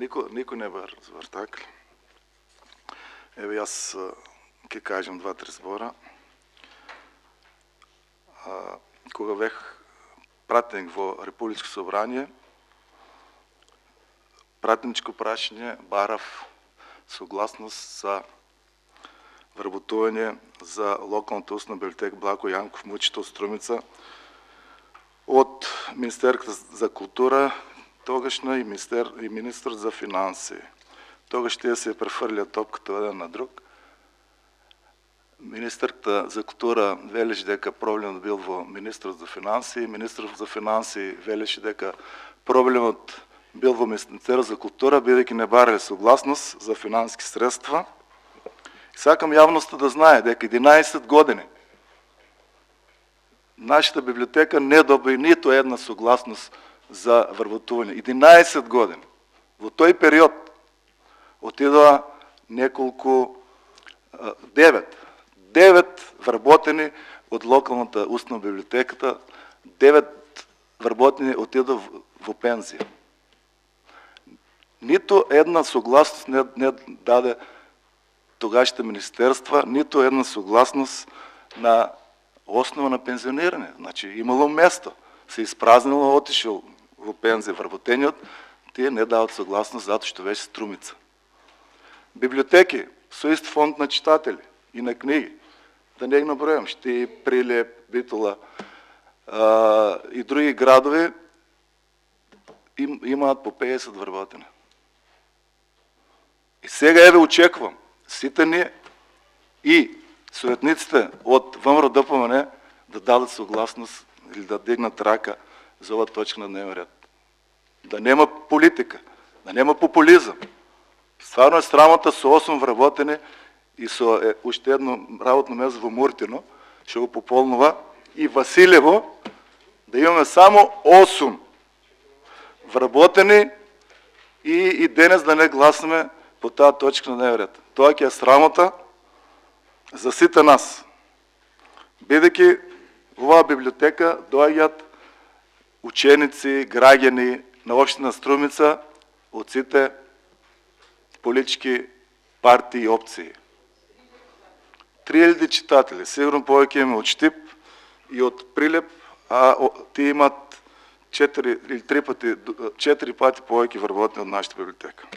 Никој не бара збор, така ли? Еве јас ќе кажам два-три збора. Кога бев пратеник во Републичко собрание, пратеничко прашање барав согласност за вработување за локалната установа библиотека Благо Јанков Мучето Струмица од Министерството за култура, тогашна и министр за финанси. Тогаш тие се префрлија топката еден на друг. Министерката за култура велеше дека проблемот бил во министрот за финанси, министрот за финанси велеше дека проблемот бил во Министерството за култура, бидејќи не барале согласност за финански средства. Сакам јавноста да знае дека 11 години нашата библиотека не доби ниту една согласност за вработување. 11 години. Во тој период отидоа неколку 9 вработени од локалната установа библиотеката, 9 вработени отидоа во пензија. Ниту една согласност не даде тогашните министерства, ниту една согласност на основа на пензионирање. Значи имало место, се испразнило, отишел во пензија вработениот, тие не дават согласност затоа што беше Струмица. Библиотеки со ист фонд на читатели и на книги, да не ги набројам, Шти, Прилеп, Битола и други градови имаат по 50 вработени. И сега еве очекувам сите ние и советниците од ВМРО ДПМН да дадат согласност или да дигнат рака за ова точка на дневен ред. Да нема политика, да нема популизам. Стварно е срамота со 8 вработени и со уште едно работно место во Муртино, ще го пополнува, и Василево, да имаме само 8 вработени и денес да не гласаме по таа точка на дневен ред. Тоа ќе е срамота за сите нас. Бидејќи во оваа библиотека доаѓаат ученици, граѓани на општина Струмица од сите политички партии и опции. 3000 читатели, сигурно повеќе има од Штип и од Прилеп, а тие имат 4 пати повеќе вработени од нашата библиотека.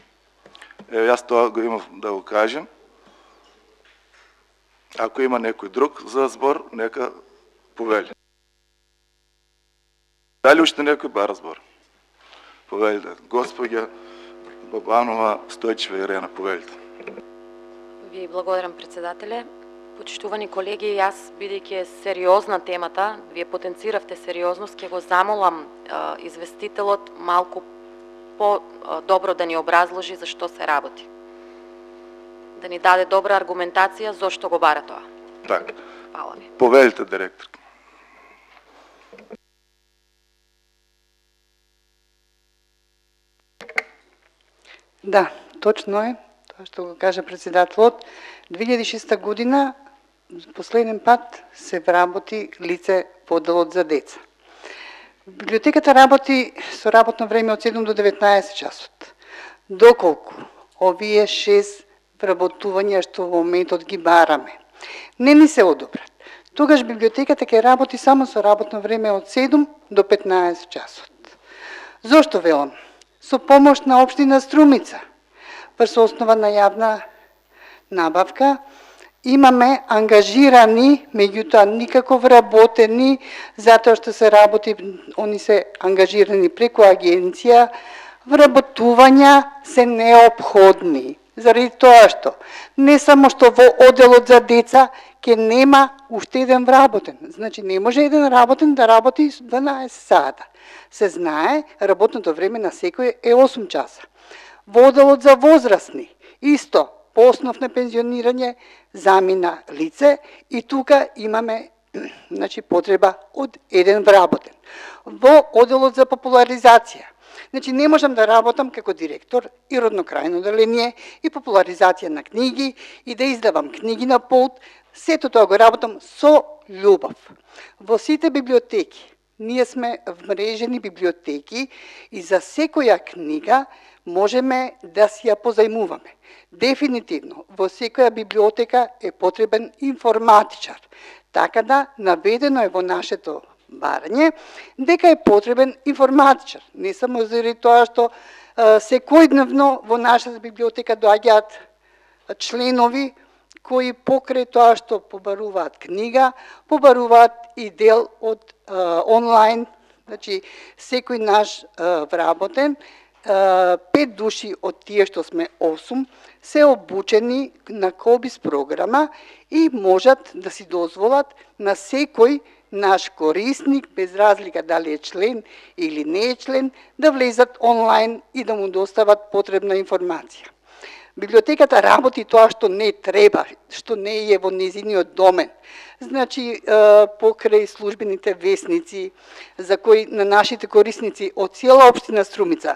Јас тоа го имав да го кажем. Ако има некој друг за збор, нека повели. Дали уште некој бара збор? Повелите. Господја Бабанова, Стојчева и Ирена, повелите. Ви благодарам, председателе. Почитувани колеги, јас, бидејќи е сериозна темата, вие потенциравте сериозност, ќе го замолам известителот малку по-добро да ни образложи за што се работи. Да ни даде добра аргументација зошто го бара тоа. Така. Фала ви. Повелите, директор. Да, точно е, тоа што го кажа председателот. 2006 година последен пат се вработи лице по одделот за деца. Библиотеката работи со работно време од 7 до 19 часот. Доколку овие 6 вработувања што во моментот ги бараме не ни се одобрат, тогаш библиотеката ќе работи само со работно време од 7 до 15 часот. Зошто велам? Со помош на општина Струмица, врз основа на јавна набавка, имаме ангажирани, меѓутоа никако вработени, затоа што се работи, они се ангажирани преку агенција, вработувања се неопходни. Заради тоа што не само што во одделот за деца ќе нема уште еден вработен. Значи не може еден работен да работи 12 сата. Се знае, работното време на секој е 8 часа. Во одделот за возрастни, исто, по основ на пензионирање, замина лице и тука имаме потреба од еден вработен. Во одделот за популаризација, не можам да работам како директор и роднокрајно одделение и популаризација на книги и да издавам книги на полт, сето тоа го работам со љубов. Во сите библиотеки, ние сме вмрежени библиотеки и за секоја книга можеме да си ја позајмуваме. Дефинитивно, во секоја библиотека е потребен информатичар. Така да, наведено е во нашето барање, дека е потребен информатичар. Не само заради тоа што секојдневно во нашата библиотека доаѓаат членови кои покрај тоа што побаруваат книга, побаруваат и дел од онлайн, секој наш вработен, 5 души од тие што сме 8 се обучени на Кобис програма и можат да си дозволат на секој наш корисник, без разлика дали е член или не е член, да влезат онлайн и да му достават потребна информација. Библиотеката работи тоа што не треба, што не е во незиниот домен. Покрај службените весници, за кои на нашите корисници од цела општина Струмица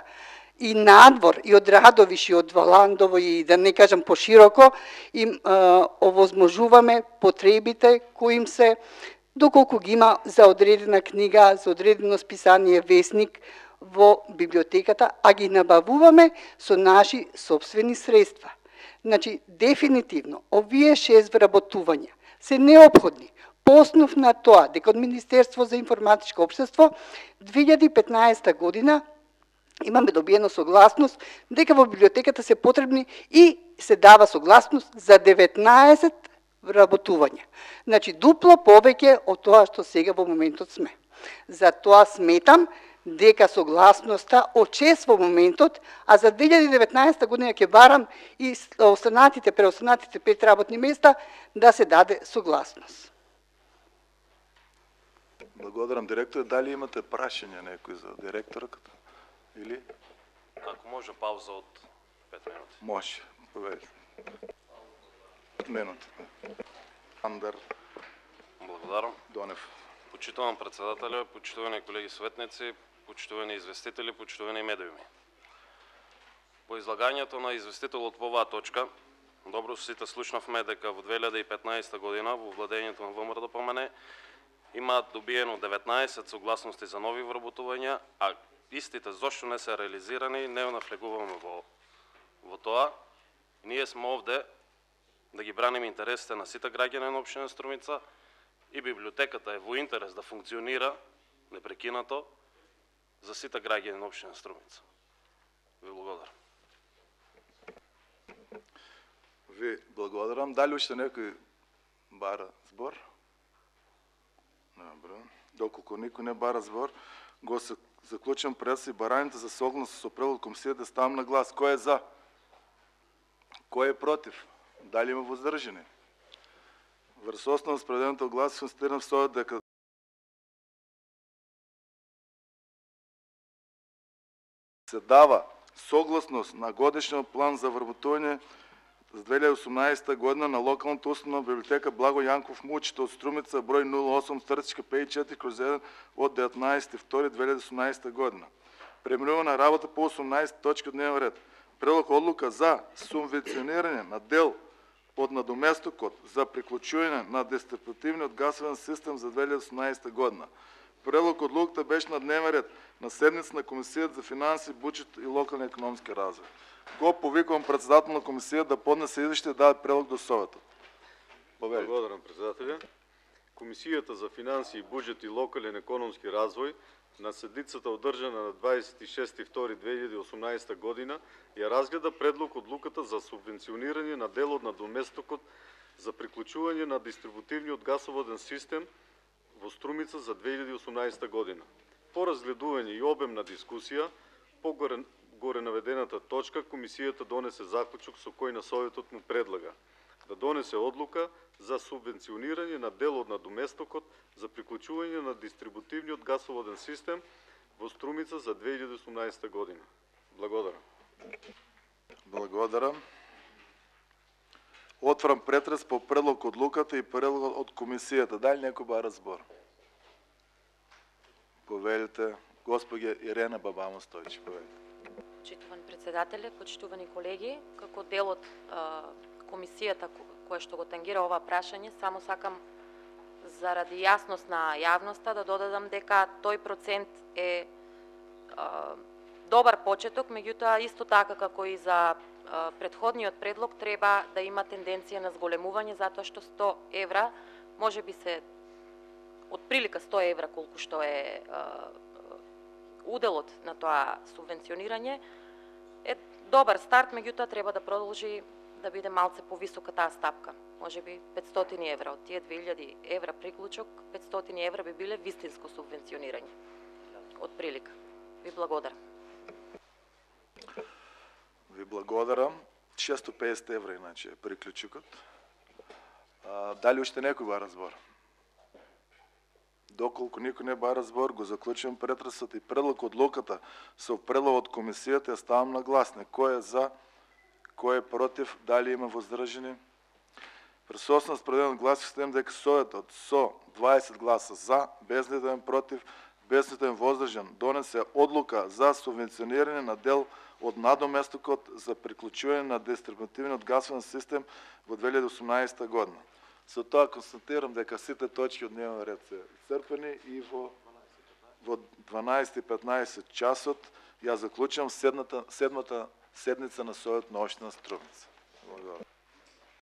и надвор, и од Радовиш, и од Валандово, и да не кажам пошироко, им овозможуваме потребите кои им се, доколку ги има за одредена книга, за одредено списание, весник, во библиотеката, а ги набавуваме со наши собствени средства. Дефинитивно, овие 6 вработувања се неопходни по основ на тоа дека од Министерство за информатичко општество 2015 година имаме добиено согласност дека во библиотеката се потребни и се дава согласност за 19 вработувања. Дупло повеќе од тоа што сега во моментот сме. За тоа сметам дека согласноста од 6 во моментот, а за 2019 година ќе барам и преостанатите 5 работни места да се даде согласност. Благодарам, директор. Дали имате прашање некој за директорката? Или? Ако може пауза од 5 минути. Може. Поведете. Минути. Андер Благодарам. Донев. Почитувам председателя, почитувани колеги советници, почитувани известители, почитувани медиуми. По излагањето на известителот по оваа точка, добро сите слушнавме дека во 2015 година во владењето на ВМРО-ДПМН има добиено 19 согласности за нови вработувања, а истите зошто не се реализирани, не навлегуваме во тоа. Ние сме овде да ги браним интересите на сите граѓани на општина Струмица и библиотеката е во интерес да функционира непрекинато за сите граѓани на општина Струмица. Ви благодарам. Ви благодарам. Дали уште некој бара збор? Добро. Доколку никој не бара збор, го заклучам пред и барањето за согласност со пред од комисијата да ставам на глас. Кој е за? Кој е против? Дали има воздржани? Врз основа спреденото глас констатирам со дека се дава согласност на годишниот план за вработување за 2018 година на локалната установа библиотека Благо Јанков Мучето од Струмица број 08-54/1 од 19.2.2018 година. Преминувана работа по 18 точки од дневен ред. Предлог одлука за субвенционирање на дел од надоместокот за приклучување на дистрибутивниот гасовен систем за 2018 година. Предлог одлуката беше на дневен ред на седница на Комисијата за финанси, буџет и локални економски развој. Го повикувам председател на комисија да поднесе извештај и да даде предлог до Советот. Благодарам, председателя. Комисијата за финанси, буџет и локален економски развој на седницата одржана на 26.2.2018 година ја разгледа предлог одлуката за субвенционирање на дел од надоместокот за приклучување на дистрибутивниот гасоводен систем во Струмица за 2018 година. По разгледување и обемна дискусија по горе наведената точка, комисијата донесе заклучок со кој на Советот му предлага да донесе одлука за субвенционирање на дел од надоместокот за приклучување на дистрибутивниот гасоводен систем во Струмица за 2018 година. Благодарам. Благодарам. Отварам претрес по предлог одлуката и предлог од комисијата. Дали некој бара збор? Повелите, госпоѓа Ирена Бабамо Стојчи, повелите. Почитуван председателе, почитувани колеги, како дел од комисијата која што го тангира ова прашање, само сакам заради јасност на јавноста да додадам дека тој процент е добар почеток, меѓутоа исто така како и за претходниот предлог треба да има тенденција на зголемување, затоа што 100 евра, може би се отприлика 100 евра колку што е уделот на тоа субвенционирање, е добар старт, меѓутоа треба да продолжи да биде малце повисока таа стапка. Може би 500 евра, од тие 2000 евра приклучок, 500 евра би биле вистинско субвенционирање. Од прилика. Ви благодарам. Ви благодарам. 650 евра иначе е приклучокот. Дали уште некој бара збор? Доколку никој не бара збор, го заклучувам претресот и предлог одлуката со предлог од комисијата ја ставам на гласне. Кој е за, кој е против, дали има воздржани? Пред основа спределен глас систем дека Советот со 20 гласа за, без нитен против, без нитен воздржан, донесе одлука за субвенционирање на дел од надоместокот за приклучување на дистрибутивниот гасовен систем во 2018 година. Со тоа констатирам дека сите точки од дневен ред се исцрпени и во 12:15 часот ја заклучувам седмата седница на Советот на општина Струмица.